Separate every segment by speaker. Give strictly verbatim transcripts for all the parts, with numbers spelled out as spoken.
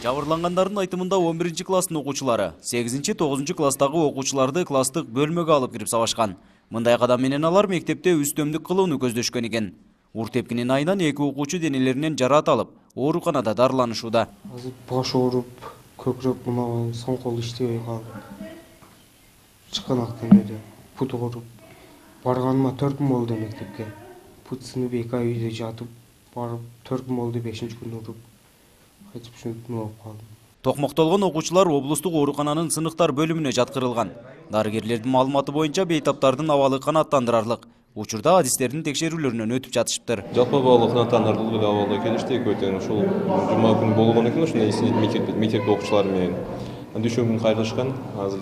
Speaker 1: Жабырлангандардын айтымында он биринчи класстын окуучулары сегизинчи тогузунчу класстагы окуучуларды класстык бөлмөгө алып кирип сабашкан. Мындай кадам менен алар мектепте үстөмдүк кылууну көздөшкөн экен. Ур тепкинин айынан эки окуучу денелеринен жараат алып, ооруканада дарыланышууда.
Speaker 2: Азыр баш ооруп, көкүрөк мына соң кол иштебей калып, чыканактан бери пут ооруп, барганыма төрт күн болду мектепке. Пут сынып эки ай үйдө жатып, барып төрт күн болду, бешинчи күн уруп, кайтып ушинтип болуп калдым.
Speaker 1: Токмоктолгон окуучулар облустук оорукананын сыныктар бөлүмүнө жаткырылган. Дарыгерлердин маалыматы боюнча бейтаптардын абалы канааттандырарлык. Учурда адистердин текшерүүлөрүнөн өтүп жатышыптыр.
Speaker 3: Жалпы абалы канааттандырарлык эле абалда келишти. Өтөн ушул жума күнү болгон экен, ошондой мектеп окуучулары менен. Дүшүн күн кайрылышкан, азыр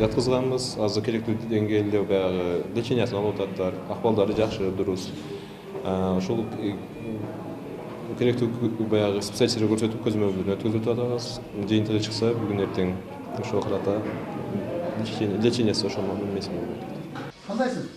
Speaker 3: жаткызганбыз, азыр керектүү деңгээлде баягы лечениясын алып ататтар, акыбалдары жакшы, дурус. Ошол керектүү баягы специалисттерге көрсөтүп көзөмөлдөрдөн өткөзүп атабыз. Жыйынтыгы чыкса бүгүн эртең ошол карата лечениясы ошол эмесин болот.
Speaker 4: Кандайсыз?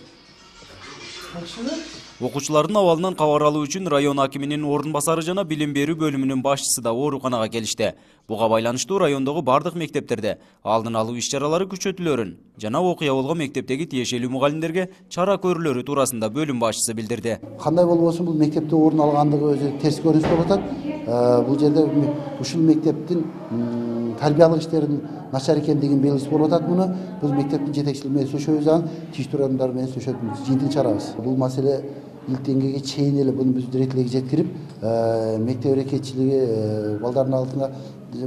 Speaker 1: Окуучулардын абалынан кабар алуу үчүн район акиминин ордун басары жана билим берүү бөлүмүнүн башчысы да ооруканага келишти. Буга байланыштуу райондогу бардык мектептерде алдын алуу иш-чаралары күчөтүлөрүн жана окуя болгон мектептеги тиешелүү мугалимдерге чара көрүлөрү туурасында бөлүм башчысы билдирди.
Speaker 4: Кандай болбосун бул мектепте орун алгандыгы өзү терс көрүнүш болуп атат. Бул жерде ушул мектептин тарбиялык иштерин начар экендигин белгиси болуп атат. Муну бул мектептин жетекчилиги менен сүйлөшөбүз, анан тийиштүү адамдар менен сүйлөшөп жыйынтыгын чыгарабыз. Бул маселе илтеңгеге чейин эле буну биз иретилеге жеткирип, мектеп эрекетчилиги балдардын алдына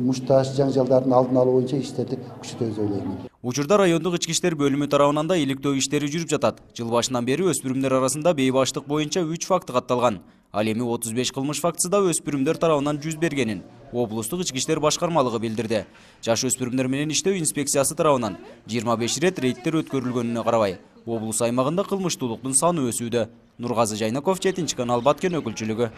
Speaker 4: мушташ жаңжалдардын алдын алуу боюнча иштерди күчөтөбүз деп ойлойм.
Speaker 1: Учурда райондук ички иштер бөлүмү тарабынан да иликтөө иштери жүрүп жатат. Жыл башынан бери өспүрүмдөр арасында бейбаштык боюнча үч факты катталган. Ал эми отуз беш кылмыш фактысы да өспүрүмдөр тарабынан жүз бергенин облустук ички иштер башкармалыгы билдирди. Жаш өспүрүмдөр менен иштөө инспекциясы тарабынан жыйырма беш ирет рейдтер өткөрүлгөнүнө карабай, облус аймагында кылмыштуулуктун саны өсүүдө. Нургазы Жайнаков, жетинчи канал, Баткен өкүлчүлүгү.